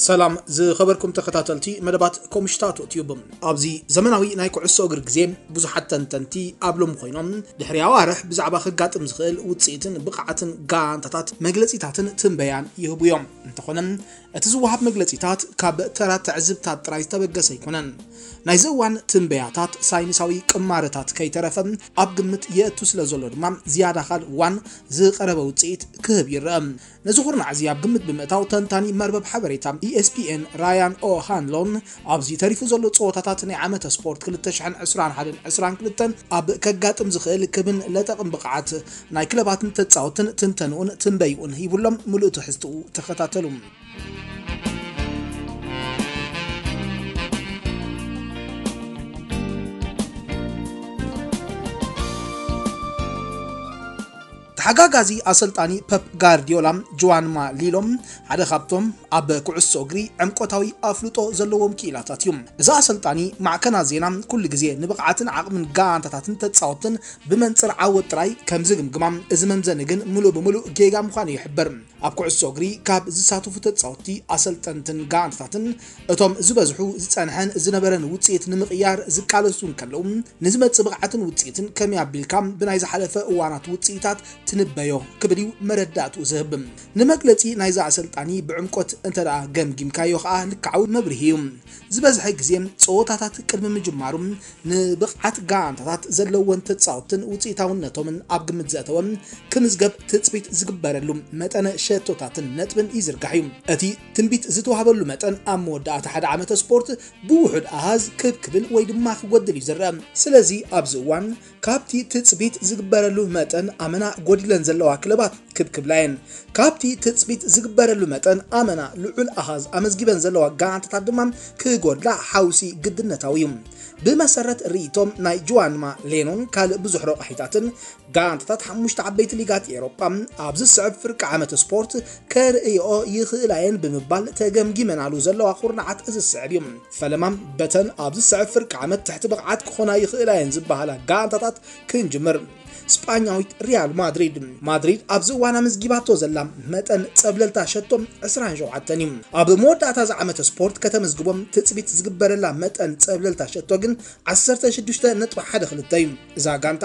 ሰላም ዝኸበርኩም ተኸታተልቲ መደባት ኮምሽታቶ ቲዩብ። ኣብዚ ዘመናዊ ናይ ኩዕሶ እግሪ ግዜ ብዙሓት ተንተንቲ ኣብ ሎም ኮይኖም ድሕሪ ኣዋርሕ ብዛዕባ ከጋጥም ዝኽእል ውጽኢትን ብቕዓትን ጋንታታት መግለጺታትን ትንበያን ይህቡ እዮም። እንተኾነ እቲ ዝወሃብ መግለጺታት ካብ ተራ ትዕዝብታት ጥራይ ዝተበገሰ ኣይኮነን። ናይዚ እዋን ትንበያታት ሳይንሳዊ ቅማረታት ከይተረፈ ኣብ ግምት የእቱ ስለ ዘሎ ድማ ዝያዳ ካልእ እዋን ዝቐረበ ውጽኢት ክህብ ይረአ። ነዚ ኩርናዕ እዚ ኣብ ግምት ብምእታው ተንታኒ መርበብ ሓበሬታ E S P N ራያን ኦሃንሎን ኣብዚ ተሪፉ ዘሎ ጸወታታት ናይ ዓመተ ስፖርት ክልተ ሽሕን ዕስራን ሓደን ዕስራን ክልተን ኣብ ከጋጥም ዝኽእል ክብን ለጠቕን ብቕዓት ናይ ክለባትን ተጻወትን ትንተንኡን ትንበይኡን ሂቡሎም። ምሉእ ትሕዝትኡ ተኸታተሉ። ተሓጋጋዚ ኣሰልጣኒ ፐፕ ጋርዲዮላ ጁዋንማ ሊሎ ሓደ ካብቶም ኣብ ኩዕሶ እግሪ ዕምቆታዊ ኣፍልጦ ዘለዎም ክኢላታት እዩ። እዚ ኣሰልጣኒ ማዕከናት ዜና ኩሉ ግዜ ንብቕዓትን ዓቕምን ጋንታታትን ተጻወትን ብመንጽር ዓወት ጥራይ ከም ዝግምግማ፣ እዚ መምዘኒ ግን ምሉእ ብምሉእ ጌጋ ምዃኑ ይሕበር። ኣብ ኩዕሶ እግሪ ካብ ዝሳተፉ ተጻወትቲ፣ ኣሰልጠንትን ጋንታታትን እቶም ዝበዝሑ ዝጸንሐን ዝነበረን ውጽኢት ንምቕያር ዝቃለሱ እንከለዉ፣ ንዝመጽእ ብቕዓትን ውጽኢትን ከመይ ኣቢልካ ብናይ ዝሓለፈ እዋናት ውጽኢታት ትንበዮ ክብል እዩ መረዳእትኡ ዝህብ። ንመግለጺ ናይዚ ኣሰልጣኒ ብዕምቆት እንተ ደኣ ገምጊምካዮ ከኣ ልክዓዊ መብርሂ እዩ። ዝበዝሐ ግዜ ጸወታታት ቅድሚ ምጅማሩ ንብቕዓት ጋንታታት ዘለወን ተጻወትን ውጽኢታውነቶምን ኣብ ግምት ዘእተወ ክምዝገብ ትጽቢት ዝግበረሉ መጠነ ሸቶታትን ነጥብን ይዝርጋሕ እዩ። እቲ ትንቢት ዝተዋህበሉ መጠን ኣብ መወዳእታ ሓደ ዓመተ ስፖርት ብውሑድ ኣሃዝ ክብ ክብል ወይ ድማ ክጎድል እዩ ዝረአ። ስለዚ ኣብዚ እዋን ካብቲ ትጽቢት ዝግበረሉ መጠን ኣመና ጎዲለን ዘለዋ ክለባት ክብ ክብላ እየን። ካብቲ ትጽቢት ዝግበረሉ መጠን ኣመና ልዑል ኣሃዝ ኣመዝጊበን ዘለዋ ጋንታታት ድማ ክጎድላ ሓውሲ ግድነታዊ እዩ። ብመሰረት ርእይቶም ናይ ጁዋንማ ሌኖን ካልእ ብዙሕ ረቋሒታትን፣ ጋንታታት ሓሙሽተ ዓበይቲ ሊጋት ኤውሮጳ ኣብዚ ዝስዕብ ፍርቂ ዓመት ስፖርት ከርእይኦ ይኽእላ እየን ብምባል ተገምጊመናሉ ዘለዋ ኩርናዓት እዚ ዝስዕብ እዩ። ፈለማ በተን ኣብዚ ዝስዕብ ፍርቂ ዓመት ትሕቲ ብቕዓት ክኾና ይኽእላ እየን ዝበሃላ ጋንታታት ክንጅምር። ስጳኛዊት ሪያል ማድሪድ። ማድሪድ ኣብዚ እዋን ኣመዝጊባቶ ዘላ መጠን ጸብለልታ ሸቶ ዕስራን ሸውዓተን እዩ። ኣብ መወዳእታ እዚ ዓመተ ስፖርት ከተመዝግቦም ትጽቢት ዝግበረላ መጠን ጸብለልታ ሸቶ ግን ዓሰርተ ሽዱሽተ ነጥቢ ሓደ ክልተ እዩ። እዛ ጋንታ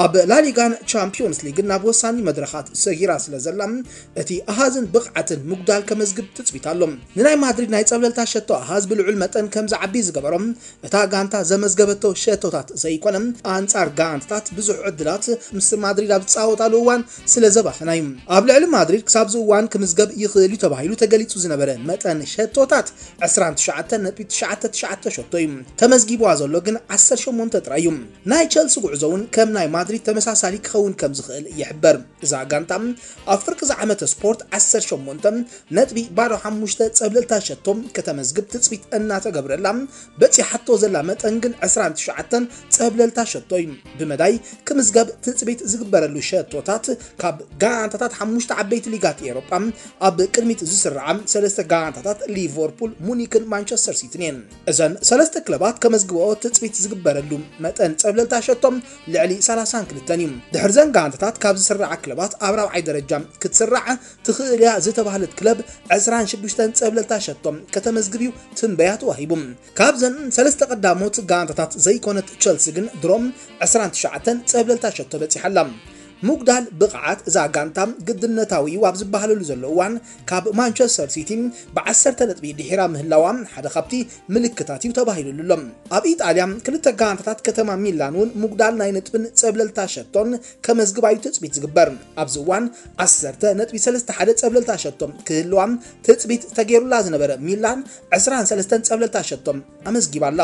ኣብ ላሊጋን ቻምፒዮንስ ሊግን ናብ ወሳኒ መድረኻት ሰጊራ ስለ ዘላ፣ እቲ ኣሃዝን ብቕዓትን ምጉዳል ከመዝግብ ትጽቢት ኣሎ። ንናይ ማድሪድ ናይ ጸብለልታ ሸቶ ኣሃዝ ብልዑል መጠን ከም ዝዓቢ ዝገበሮ፣ እታ ጋንታ ዘመዝገበቶ ሸቶታት ዘይኮነ፣ ኣንጻር ጋንታታት ብዙሕ ዕድላት ምስ ማድሪድ ኣብ ዝጻወታሉ እዋን ስለ ዘባኸና እዩ። ኣብ ልዕሊ ማድሪድ ክሳብ እዚ እዋን ክምዝገብ ይኽእል እዩ ተባሂሉ ተገሊጹ ዝነበረ መጠን ሸቶታት ዕስራን ትሽዓተን ነጥቢ ትሽዓተ ትሽዓተ ሸቶ እዩ። ተመዝጊብዋ ዘሎ ግን ዓሰርተ ሸሞንተ ጥራይ እዩ። ናይ ቸልሲ ጉዕዞ እውን ከም ናይ ማድሪድ ተመሳሳሊ ክኸውን ከም ዝኽእል ይሕበር። እዛ ጋንታ ኣብ ፍርቂ ዝዓመተ ስፖርት ዓሰርተ ሸሞንተ ነጥቢ ባዶ ሓሙሽተ ጸብለልታ ሸቶ ከተመዝግብ ትጽቢት እናተገብረላ፣ በጺሓቶ ዘላ መጠን ግን ዕስራን ትሽዓተን ጸብለልታ ሸቶ እዩ። ብመዳይ ክምዝገብ ትጽቢት ዝግበረሉ ሸቶታት ካብ ጋንታታት ሓሙሽተ ዓበይቲ ሊጋት ኤውሮጳ ኣብ ቅድሚት ዝስርዓ ሰለስተ ጋንታታት ሊቨርፑል፣ ሙኒክን ማንቸስተር ሲቲን እየን። እዘን ሰለስተ ክለባት ከመዝግበኦ ትጽቢት ዝግበረሉ መጠን ጸብለልታ ሸቶ ልዕሊ ሰላሳን ክልተን እዩ። ድሕሪ ዘን ጋንታታት ካብ ዝስርዓ ክለባት ኣብ ራብዓይ ደረጃ ክትስራዕ ትኽእል እያ ዝተባህለት ክለብ ዕስራን ሽዱሽተን ጸብለልታ ሸቶ ከተመዝግብ እዩ ትንበያ ተዋሂቡ። ካብዘን ሰለስተ ቀዳሞት ጋንታታት ዘይኮነት ቸልሲ ግን ድሮም ዕስራን ትሽዓተን ጸብለልታ ሸቶ በጺሓ ኣላ። ምጉዳል ብቕዓት እዛ ጋንታ ግድነታዊ እዩ ኣብ ዝበሃለሉ ዘሎ እዋን፣ ካብ ማንቸስተር ሲቲ ብዓሰርተ ነጥቢ ድሒራ ምህላዋ ሓደ ካብቲ ምልክታት እዩ ተባሂሉሉ ኣሎ። ኣብ ኢጣልያ ክልተ ጋንታታት ከተማ ሚላን እውን ምጉዳል ናይ ነጥብን ጸብለልታ ሸቶን ከመዝግባ እዩ ትጽቢት ዝግበር። ኣብዚ እዋን ዓሰርተ ነጥቢ ሰለስተ ሓደ ጸብለልታ ሸቶ ክህልዋ ትጽቢት ተገይሩላ ዝነበረ ሚላን ዕስራን ሰለስተን ጸብለልታ ሸቶ ኣመዝጊባ ኣላ።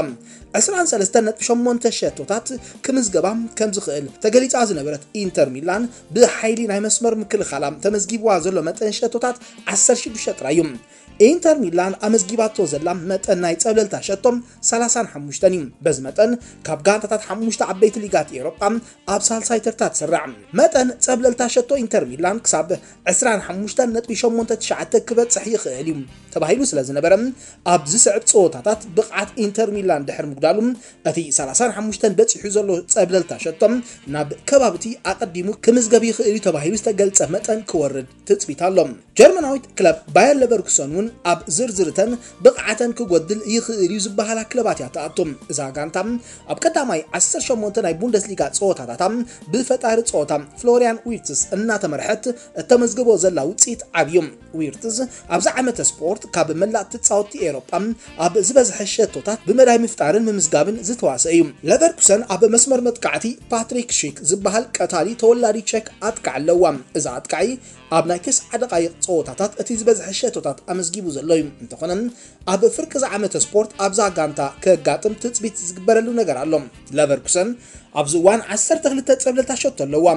ዕስራን ሰለስተን ነጥቢ ሸሞንተ ሸቶታት ክምዝገባ ከም ዝኽእል ተገሊጻ ዝነበረት ኢንተር ሚላን ብሓይሊ ናይ መስመር ምክልኻላ ተመዝጊብዋ ዘሎ መጠን ሸቶታት ዓሰርተ ሽዱሽተ ጥራይ እዩ። ኢንተር ሚላን ኣመዝጊባቶ ዘላ መጠን ናይ ጸብለልታ ሸቶ ሰላሳን ሓሙሽተን እዩ። በዚ መጠን ካብ ጋንታታት ሓሙሽተ ዓበይቲ ሊጋት ኤውሮጳ ኣብ ሳልሳይ ተርታ ትስራዕ። መጠን ጸብለልታ ሸቶ ኢንተር ሚላን ክሳብ ዕስራን ሓሙሽተን ነጥቢ ሸሞንተ ትሽዓተ ክበጽሕ ይኽእል እዩ ተባሂሉ ስለ ዝነበረ፣ ኣብ ዝስዕብ ጸወታታት ብቕዓት ኢንተር ሚላን ድሕሪ ምጉዳሉ፣ እቲ ሰላሳን ሓሙሽተን በጺሑ ዘሎ ጸብለልታ ሸቶ ናብ ከባቢ እቲ ኣቐዲሙ ክምዝገብ ይኽእል እዩ ተባሂሉ ዝተገልጸ መጠን ክወርድ ትጽቢት ኣሎ። ጀርመናዊት ክለብ ባየር ለቨርኩሰን እውን ኣብ ዝርዝርተን ብቕዓተን ክጎድል ይኽእል እዩ ዝበሃላ ክለባት እያ ትኣቱ። እዛ ጋንታ ኣብ ቀዳማይ ዓሰርተ ሸሞንተ ናይ ቡንደስሊጋ ጸወታታታ ብፈጣሪ ጸወታ ፍሎሪያን ዊርትስ እናተመርሐት እተመዝግቦ ዘላ ውጽኢት ዓብዩ። ዊርትዝ ኣብዚ ዓመተ ስፖርት ካብ መላእ ተጻወትቲ ኤውሮጳ ኣብ ዝበዝሐ ሸቶታት ብመዳይ ምፍጣርን ምምዝጋብን ዝተዋሰ እዩ። ለቨርኩሰን ኣብ መስመር መጥቃዕቲ ፓትሪክ ሺክ ዝበሃል ቀታሊ ተወላዲ ቸክ ኣጥቃዕ ኣለዋ። እዚ ኣጥቃዒ ኣብ ናይ ተስዓ ደቓይቕ ጸወታታት እቲ ዝበዝሐ ሸቶታት ኣመዝጊቡ ዘሎ እዩ። እንተኾነ ኣብ ፍርቂ እዚ ዓመተ ስፖርት ኣብዛ ጋንታ ከጋጥም ትጽቢት ዝግበረሉ ነገር ኣሎ። ለቨርኩሰን ኣብዚ እዋን ዓሰርተ ክልተ ጸብለልታ ሸቶ ኣለዋ።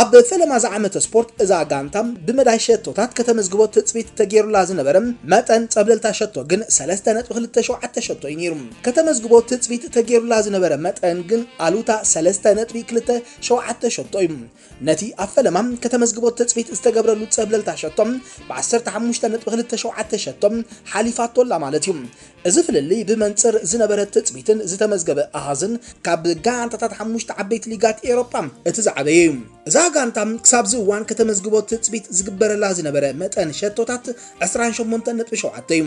ኣብ ፈለማ ዝዓመተ ስፖርት እዛ ጋንታ ብመዳይ ሸቶታት ከተመዝግቦ ትጽቢት ተገይሩላ ዝነበረ መጠን ጸብለልታ ሸቶ ግን ሰለስተ ነጥቢ ክልተ ሸውዓተ ሸቶ እዩ ነይሩ። ከተመዝግቦ ትጽቢት ተገይሩላ ዝነበረ መጠን ግን ኣሉታ ሰለስተ ነጥቢ ክልተ ሸውዓተ ሸቶ እዩ። ነቲ ኣብ ፈለማ ከተመዝግቦ ትጽቢት ዝተገብረሉ ጸብለልታ ሸቶ ብ ዓሰርተ ሓሙሽተ ነጥቢ ክልተ ሸውዓተ ሸቶ ሓሊፋቶ ኣላ ማለት እዩ። እዚ ፍልልይ ብመንጽር ዝነበረ ትጽቢትን ዝተመዝገበ ኣሃዝን ካብ ጋንታታት ሓሙሽተ ዓበይቲ ሊጋት ኤውሮጳ እቲ ዝዓበየ እዩ። እዛ ጋንታ ክሳብዚ እዋን ከተመዝግቦ ትጽቢት ዝግበረላ ዝነበረ መጠን ሸቶታት ዕስራን ሸሞንተን ነጥቢ ሸውዓተ እዩ።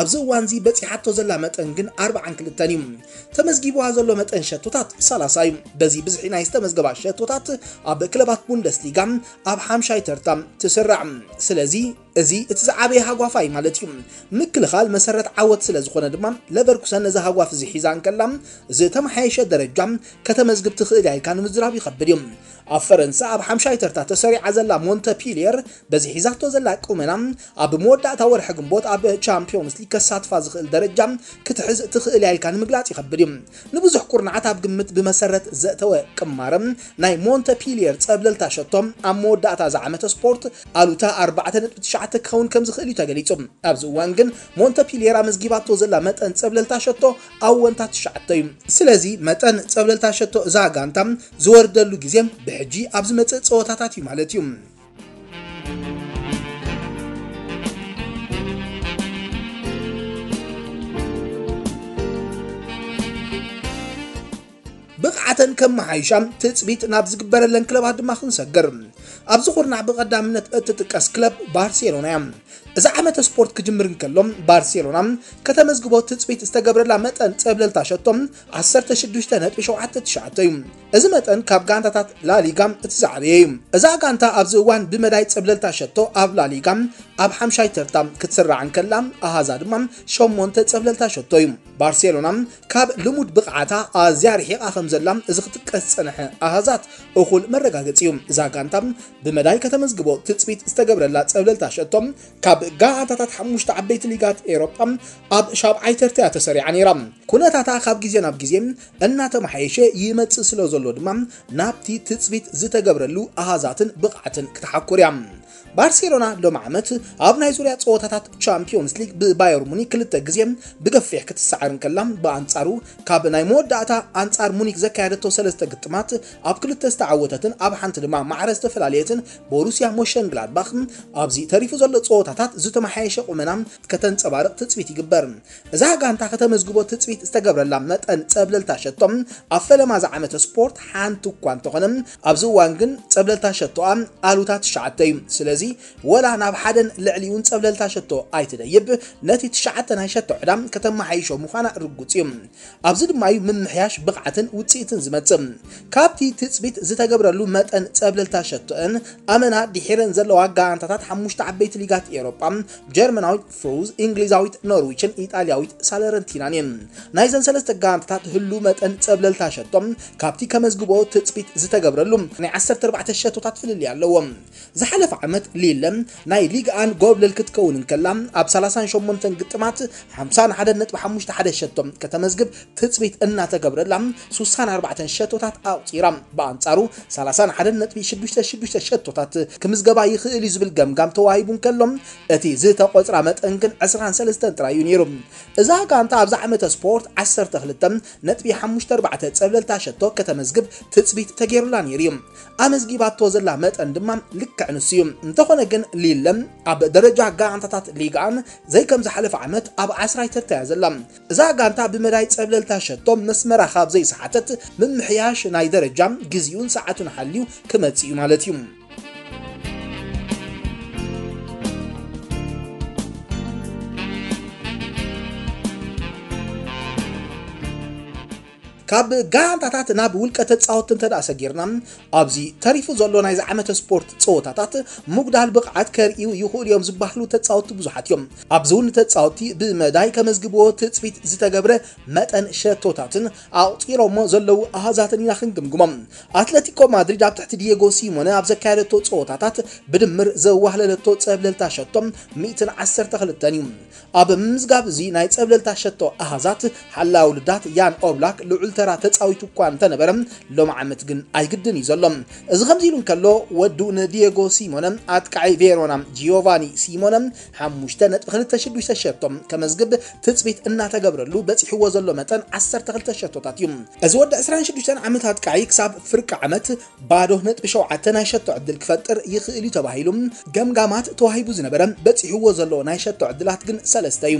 ኣብዚ እዋንዚ በጺሓቶ ዘላ መጠን ግን ኣርባዓን ክልተን እዩ። ተመዝጊብዋ ዘሎ መጠን ሸቶታት ሰላሳ እዩ። በዚ ብዝሒ ናይ ዝተመዝገባ ሸቶታት ኣብ ክለባት ቡንደስሊጋ ኣብ ሓምሻይ ተርታ ትስራዕ። ስለዚ እዚ እቲ ዝዓበየ ሃጓፋ እዩ ማለት እዩ። ምክልኻል መሰረት ዓወት ስለ ዝኾነ ድማ ለቨርኩሰን ነዚ ሃጓፍ እዚ ሒዛ እንከላ ዝተመሓየሸ ደረጃ ከተመዝግብ ትኽእል እያ ኢልካ ንምዝራብ ይኸብድ እዩ። ኣብ ፈረንሳ ኣብ ሓምሻይ ተርታ ተሰሪዓ ዘላ ሞንተፒልየር በዚ ሒዛቶ ዘላ ቁመና ኣብ መወዳእታ ወርሒ ግንቦት ኣብ ቻምፒዮንስ ሊግ ከሳትፋ ዝኽእል ደረጃ ክትሕዝ ትኽእል እያ ኢልካ ንምግላጽ ይኸብድ እዩ። ንብዙሕ ኩርናዓት ኣብ ግምት ብመሰረት ዘእተወ ቅማረ ናይ ሞንተፒልየር ጸብለልታ ሸቶ ኣብ መወዳእታ እዚ ዓመተ ስፖርት ኣሉታ ኣርባዕተ ነጥቢ ትሽዓተ ክኸውን ከም ዝኽእል እዩ ተገሊጹ። ኣብዚ እዋን ግን ሞንተፒልየር ኣመዝጊባቶ ዘላ መጠን ጸብለልታ ሸቶ ኣወንታ ትሽዓተ እዩ። ስለዚ መጠን ጸብለልታ ሸቶ እዛ ጋንታ ዝወርደሉ ግዜ ብሕጂ ኣብ ዝመጽእ ጸወታታት እዩ ማለት እዩ። ብቕዓተን ከመሓይሻ ትጽቢት ናብ ዝግበረለን ክለባት ድማ ክንሰግር። ኣብዚ ኩርናዕ ብቐዳምነት እትጥቀስ ክለብ ባርሴሎና እያ። እዚ ዓመተ ስፖርት ክጅምር እንከሎ ባርሴሎና ከተመዝግቦ ትጽቢት ዝተገብረላ መጠን ጸብለልታ ሸቶ ዓሰርተ ሽዱሽተ ነጥቢ ሸውዓተ ትሽዓተ እዩ። እዚ መጠን ካብ ጋንታታት ላሊጋ እቲ ዝዓበየ እዩ። እዛ ጋንታ ኣብዚ እዋን ብመዳይ ጸብለልታ ሸቶ ኣብ ላሊጋ ኣብ ሓምሻይ ተርታ ክትስራዕ እንከላ ኣሃዛ ድማ ሸሞንተ ጸብለልታ ሸቶ እዩ። ባርሴሎና ካብ ልሙድ ብቕዓታ ኣዝያ ርሒቓ ከም ዘላ እዚ ክጥቀስ ዝጸንሐ ኣሃዛት እኹል መረጋገጺ እዩ። እዛ ጋንታ ብመዳይ ከተመዝግቦ ትጽቢት ዝተገብረላ ጸብለልታ ሸቶ ካብ ጋንታታት ሓሙሽተ ዓበይቲ ሊጋት ኤውሮጳ ኣብ ሻብዓይ ተርታ እያ ተሰሪዓ ነይራ። ኩነታታ ካብ ግዜ ናብ ግዜ እናተመሓየሸ ይመጽእ ስለ ዘሎ ድማ ናብቲ ትጽቢት ዝተገብረሉ ኣሃዛትን ብቕዓትን ክትሓኩር እያ። ባርሴሎና ሎሚ ዓመት ኣብ ናይ ዙርያ ጸወታታት ቻምፒዮንስ ሊግ ብባየር ሙኒክ ክልተ ግዜ ብገፊሕ ክትሰዓር እንከላ፣ ብኣንጻሩ ካብ ናይ መወዳእታ ኣንጻር ሙኒክ ዘካየደቶ ሰለስተ ግጥማት ኣብ ክልተ ዝተዓወተትን ኣብ ሓንቲ ድማ ማዕረ ዝተፈላለየትን ቦሩስያ ሞሸንግላድባኽ ኣብዚ ተሪፉ ዘሎ ጸወታታት ዝተመሓየሸ ቁመና ከተንጸባርቕ ትጽቢት ይግበር። እዛ ጋንታ ከተመዝግቦ ትጽቢት ዝተገብረላ መጠን ጸብለልታ ሸቶ ኣብ ፈለማ ዝዓመተ ስፖርት ሓንቲ እኳ እንተኾነ፣ ኣብዚ እዋን ግን ጸብለልታ ሸቶኣ ኣሉታ ትሽዓተ እዩ። ስለዚ ወላ ናብ ሓደን ልዕሊኡን ጸብለልታ ሸቶ ኣይትደይብ፣ ነቲ ትሽዓተ ናይ ሸቶ ዕዳ ከተመሓይሾ ምዃና ርጉጽ እዩ። ኣብዚ ድማ እዩ ምምሕያሽ ብቕዓትን ውጽኢትን ዝመጽእ። ካብቲ ትጽቢት ዝተገብረሉ መጠን ጸብለልታ ሸቶእን ኣመና ድሒረን ዘለዋ ጋንታታት ሓሙሽተ ዓበይቲ ሊጋት ኤውሮጳ፣ ጀርመናዊት ፍሩዝ፣ እንግሊዛዊት ኖርዊችን ኢጣልያዊት ሳለረንቲናን እየን። ናይዘን ሰለስተ ጋንታታት ህሉ መጠን ጸብለልታ ሸቶ ካብቲ ከመዝግቦ ትጽቢት ዝተገብረሉ ናይ ዓሰርተ ኣርባዕተ ሸቶታት ፍልልይ ኣለዎ። ዝሓለፈ ዓመት ሊለ ናይ ሊግ ኣን ጎብለል ክትከውን እንከላ፣ ኣብ ሰላሳን ሸሞንተን ግጥማት ሓምሳን ሓደን ነጥቢ ሓሙሽተ ሓደ ሸቶ ከተመዝግብ ትጽቢት እናተገብረላ፣ ሱሳን ኣርባዕተን ሸቶታት ኣቑጺራ። ብኣንጻሩ ሰላሳን ሓደን ነጥቢ ሽዱሽተ ሽዱሽተ ሸቶታት ክምዝገባ ይኽእል እዩ ዝብል ገምጋም ተዋሂቡ እንከሎ፣ እቲ ዝተቖጽራ መጠን ግን ዕስራን ሰለስተን ጥራይ እዩ ነይሩ። እዛ ጋንታ ኣብዚ ዓመተ ስፖርት ዓሰርተ ክልተ ነጥቢ ሓሙሽተ ኣርባዕተ ጸብለልታ ሸቶ ከተመዝግብ ትጽቢት ተገይሩላ ነይሩ እዩ። ኣመዝጊባቶ ዘላ መጠን ድማ ልክዕ ንሱ እዩ። እንተ እንተኾነ ግን ሊለ ኣብ ደረጃ ጋንታታት ሊጋኣን ዘይከም ዝሓለፈ ዓመት ኣብ ዓስራይ ተርታ እያ ዘላ። እዛ ጋንታ ብመዳይ ጸብለልታ ሸቶ መስመራ ካብ ዘይሰሓተት ምምሕያሽ ናይ ደረጃ ግዜኡን ሰዓቱን ሓልዩ ክመጽእ እዩ ማለት እዩ። ካብ ጋንታታት ናብ ውልቀ ተጻወትቲ እንተ ደኣ ሰጊርና፣ ኣብዚ ተሪፉ ዘሎ ናይዚ ዓመተ ስፖርት ጸወታታት ምጉዳል ብቕዓት ከርእዩ ይኽእሉ እዮም ዝበሃሉ ተጻወትቲ ብዙሓት እዮም። ኣብዚ እውን ተጻወትቲ ብመዳይ ከመዝግብዎ ትጽቢት ዝተገብረ መጠን ሸቶታትን ኣቑጺሮሞ ዘለዉ ኣሃዛትን ኢና ክንግምግሞም። ኣትለቲኮ ማድሪድ ኣብ ትሕቲ ዲየጎ ሲሞነ ኣብ ዘካየደቶ ጸወታታት ብድምር ዘዋህለለቶ ጸብለልታ ሸቶ ሚእትን ዓሰርተ ክልተን እዩ። ኣብ ምምዝጋብ እዚ ናይ ጸብለልታ ሸቶ ኣሃዛት ሓላዊ ውልዳት ያን ኦብላክ ልዑል ተራ ተጻዊቱ እኳ እንተነበረ፣ ሎም ዓመት ግን ኣይግድን እዩ ዘሎ። እዚ ከምዚ ኢሉ እንከሎ፣ ወዱ ንዲየጎ ሲሞነ ኣጥቃዒ ቬሮና ጂዮቫኒ ሲሞነ ሓሙሽተ ነጥቢ ክልተ ሽዱሽተ ሸቶ ከመዝግብ ትጽቢት እናተገብረሉ በጺሕዎ ዘሎ መጠን ዓሰርተ ክልተ ሸቶታት እዩ። እዚ ወዲ ዕስራን ሽዱሽተን ዓመት ኣጥቃዒ ክሳብ ፍርቂ ዓመት ባዶ ነጥቢ ሸውዓተ ናይ ሸቶ ዕድል ክፈጥር ይኽእል እዩ ተባሂሉ ገምጋማት ተዋሂቡ ዝነበረ በጺሕዎ ዘሎ ናይ ሸቶ ዕድላት ግን ሰለስተ እዩ።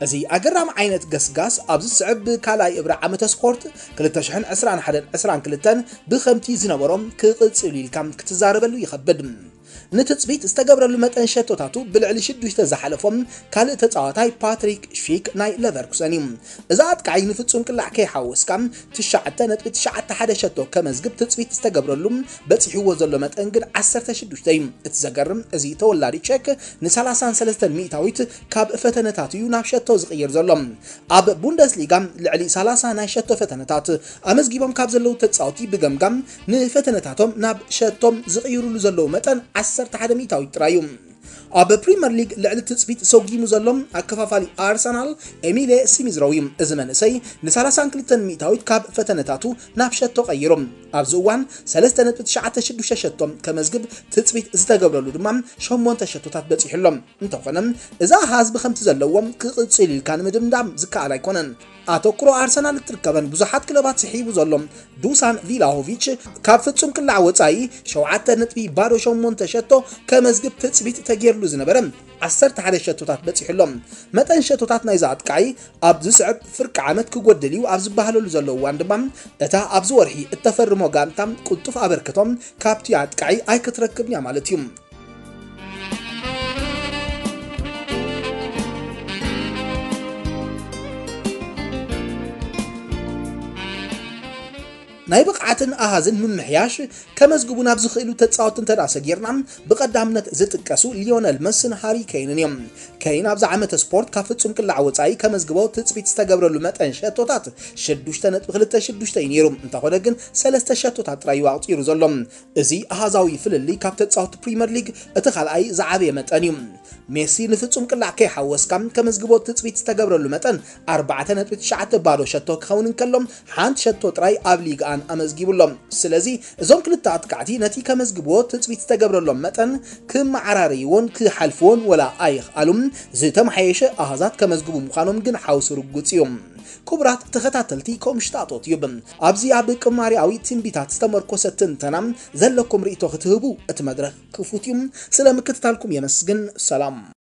እዚ ኣገራሚ ዓይነት ገስጋስ ኣብዚ ዝስዕብ ካልኣይ እብረ ዓመተ ስፖርት ክልተ ሽሕን ዕስራን ሓደን ዕስራን ክልተን ብኸምቲ ዝነበሮ ክቕጽል ኢልካ ክትዛረበሉ ይኸብድ። ንትጽቢት ዝተገብረሉ መጠን ሸቶታቱ ብልዕሊ ሽዱሽተ ዝሓለፎም ካልእ ተጻዋታይ ፓትሪክ ሺክ ናይ ለቨርኩሰን እዩ። እዚ ኣጥቃዒ ንፍጹም ቅላዕ ከይሓወስካ ትሽዓተ ነጥቢ ትሽዓተ ሓደ ሸቶ ከመዝግብ ትጽቢት ዝተገብረሉ በጺሕዎ ዘሎ መጠን ግን ዓሰርተ ሽዱሽተ እዩ። እቲ ዘገርም እዚ ተወላዲ ቼክ ንሰላሳን ሰለስተን ሚእታዊት ካብ ፈተነታት እዩ ናብ ሸቶ ዝቕይር ዘሎ። ኣብ ቡንደስሊጋ ልዕሊ ሰላሳ ናይ ሸቶ ፈተነታት ኣመዝጊቦም ካብ ዘለዉ ተጻወቲ ብገምጋም ንፈተነታቶም ናብ ሸቶም ዝቕይሩሉ ዘለዉ መጠን ዓሰርተ ሓደ ሚእታዊት ጥራይ እዩ። ኣብ ፕሪምየር ሊግ ልዕሊ ትጽቢት ሰጒሙ ዘሎ ኣከፋፋሊ ኣርሰናል ኤሚሌ ስሚዝሮው እዩ። እዚ መንእሰይ ንሰላሳን ክልተን ሚእታዊት ካብ ፈተነታቱ ናብ ሸቶ ቀይሩ። ኣብዚ እዋን ሰለስተ ነጥቢ ትሽዓተ ሽዱሽተ ሸቶ ከመዝግብ ትጽቢት ዝተገብረሉ ድማ ሸሞንተ ሸቶታት በጺሑ ኣሎ። እንተኾነ እዚ ኣሃዝ ብኸምቲ ዘለዎ ክቕጽል ኢልካ ንምድምዳም ዝከኣል ኣይኮነን። ኣተኩሮ ኣርሰናል እትርከበን ብዙሓት ክለባት ስሒቡ ዘሎ ዱሳን ቪላሆቪች ካብ ፍጹም ቅላዕ ወጻኢ ሸውዓተ ነጥቢ ባዶ ሸሞንተ ሸቶ ከመዝግብ ትጽቢት ተገይርሉ ዝነበረ ዓሰርተ ሓደ ሸቶታት በጺሑ ኣሎ። መጠን ሸቶታት ናይዚ ኣጥቃዒ ኣብ ዝስዕብ ፍርቂ ዓመት ክጎድል እዩ ኣብ ዝበሃለሉ ዘሎ እዋን ድማ እታ ኣብዚ ወርሒ እተፈርሞ ጋንታ ቅልጡፍ ኣበርክቶ ካብቲ ኣጥቃዒ ኣይክትረክብን እያ ማለት እዩ። ናይ ብቕዓትን ኣሃዝን ምምሕያሽ ከመዝግቡ ናብ ዝኽእሉ ተጻወትቲ እንተ ደኣ ሰጊርና፣ ብቐዳምነት ዝጥቀሱ ሊዮነል መስን ሃሪ ኬይንን እዮም። ኬይን ኣብዚ ዓመተ ስፖርት ካብ ፍጹም ቅላዕ ወጻኢ ከመዝግቦ ትጽቢት ዝተገብረሉ መጠን ሸቶታት ሽዱሽተ ነጥቢ ክልተ ሽዱሽተ እዩ ነይሩ። እንተኾነ ግን ሰለስተ ሸቶታት ጥራይ እዩ ኣቑጺሩ ዘሎ። እዚ ኣሃዛዊ ፍልልይ ካብ ተጻወትቲ ፕሪምየር ሊግ እቲ ካልኣይ ዝዓበየ መጠን እዩ። ሜሲ ንፍጹም ቅላዕ ከይሓወስካ ከመዝግቦ ትጽቢት ዝተገብረሉ መጠን ኣርባዕተ ነጥቢ ትሽዓተ ባዶ ሸቶ ክኸውን እንከሎ፣ ሓንቲ ሸቶ ጥራይ ኣብ ሊግኣን ኣመዝጊቡ ኣሎ። ስለዚ እዞም ክልተ ኣጥቃዕቲ ነቲ ከመዝግብዎ ትጽቢት ዝተገብረሎም መጠን ክመዓራረይዎን ክሓልፍዎን ወላ ኣይኽኣሉም። ዝተመሓየሸ ኣሃዛት ከመዝግቡ ምዃኖም ግን ሓውሲ ርጉጽ እዩ። ክቡራት ተኸታተልቲ ኮምሽታጦት ዩብ፣ ኣብዚ ኣብ ቅማሪያዊ ትንቢታት ዝተመርኮሰ ትንተና ዘለኩም ርእይቶ ክትህቡ እቲ መድረኽ ክፉት እዩ። ስለ ምክትታልኩም የመስግን። ሰላም።